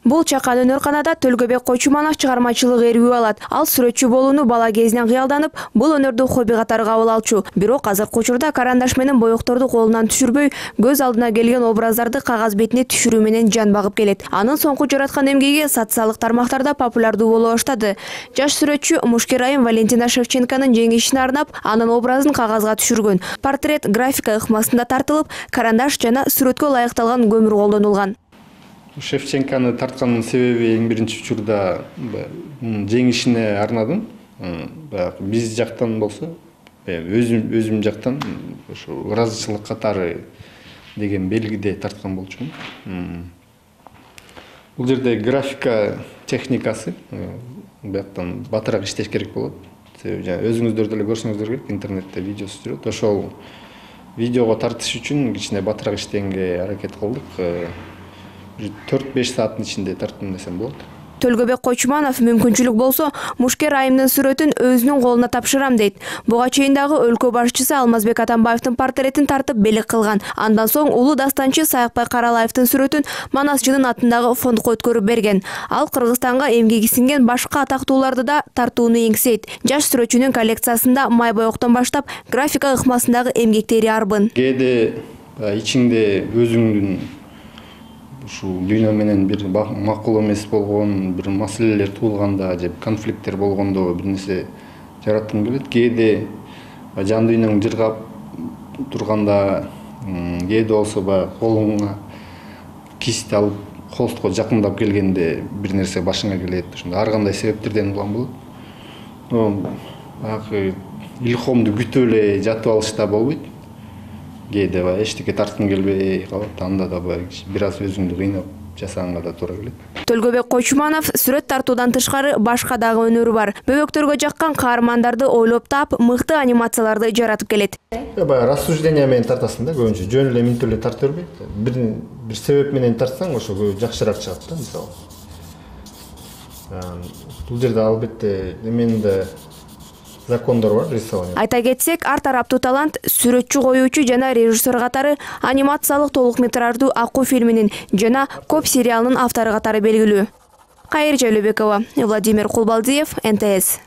Бул чакан өнөрканада Төлгөбек Койчуманов чыгармачылык эрүүгө алат. Ал сүрөтчү болууну бала кезинен кыялданып, бул өнөрдү хобби катары кабыл алчу. Бирок азыркы учурда карандаш менен боекторду колунан түшүрбөй, көз алдына келген образдарды кагаз бетине түшүрүү менен жан багып келет. Анын соңку жараткан эмгеги социалдык тармактарда популярдуу боло баштады. Жаш сүрөтчү Мушкер айым Валентина Шевченконун жеңишине арнап, анын образын кагазга түшүргөн. Портрет графика ыкмасында тартылып, карандаш жана сүрөткө ылайыкталган көмүр колдонулган. Шевченконы тартканын себеби эң биринчи учурда жеңишине арнадым. Биз жактан болсо, өзүм жактан ошо ыраазычылык катары деген белгиде тарткан болчумун. Бул жерде графика техникасы бияктан батыраак иштеш керек болот. Себеби өзүңүздөр деле көрсөңүздөр керек, интернетте видеосу жүрөт. Ошол видеого тартыш үчүн кичине батыраак иштегенге аракет кылдык. 4-5 сааттын ичинде тарттым десем болот. Төлгөбек Койчуманов мүмкүнчүлүк болсо Мушкер айымдын сүрөтүн өзүнүн колуна тапшырам дейт. Буга чейин дагы өлкө башчысы Алмазбек Атамбаевдин портретин тартып белек кылган. Андан соң улуу дастанчы Саякбай Каралаевдин сүрөтүн Манасчынын атындагы фондко өткөрүп берген. Ал Кыргызстанга эмгеги сиңген башка атактууларды да тартууну эңсейт. Жаш сүрөтчүнүн коллекциясында май боектон баштап графика ыкмасындагы эмгектери арбын. Кээде ичиңде өзүңдүн ушул дүйнө менен бир макул эмес болгон бир маселелер туулганда же конфликттер болгондо бир нерсе жараткың келет. Кээде жан дүйнөң жыргап турганда, кээде болсо колуңа кисть алып холстко жакындап келгенде бир нерсе башыңа келет. Ошондо ар кандай себептерден улам болот. Баягы илхомду күтүп эле жатып алышта болбойт. Кээде эчтеке тарткың келбей калат, анда да бир аз өзүңдү кыйнап жасаганга да туура келет. Төлгөбек Койчуманов сүрөт тартуудан тышкары башка дагы өнөрү бар. Бөбөктөргө жаккан каармандарды ойлоп таап, мыкты анимацияларды жаратып келет. Баягы рассуждение менен тартасың да, көбүнчө жөн эле минтип эле тарта бербейт. Бир себеп менен тартсаң, ошо жакшыраак чыгат да, мисалы. Бул жерде албетте эменин да закондор бар, рисование. Айта кетсек, ар тараптуу талант сүрөтчү, коюучу жана режиссер катары анимациялык толук метраждуу Акуу фильминин жана Коп сериалынын автору катары белгилүү. Кайыр Жайлообекова, Владимир Кулбалдиев, НТС.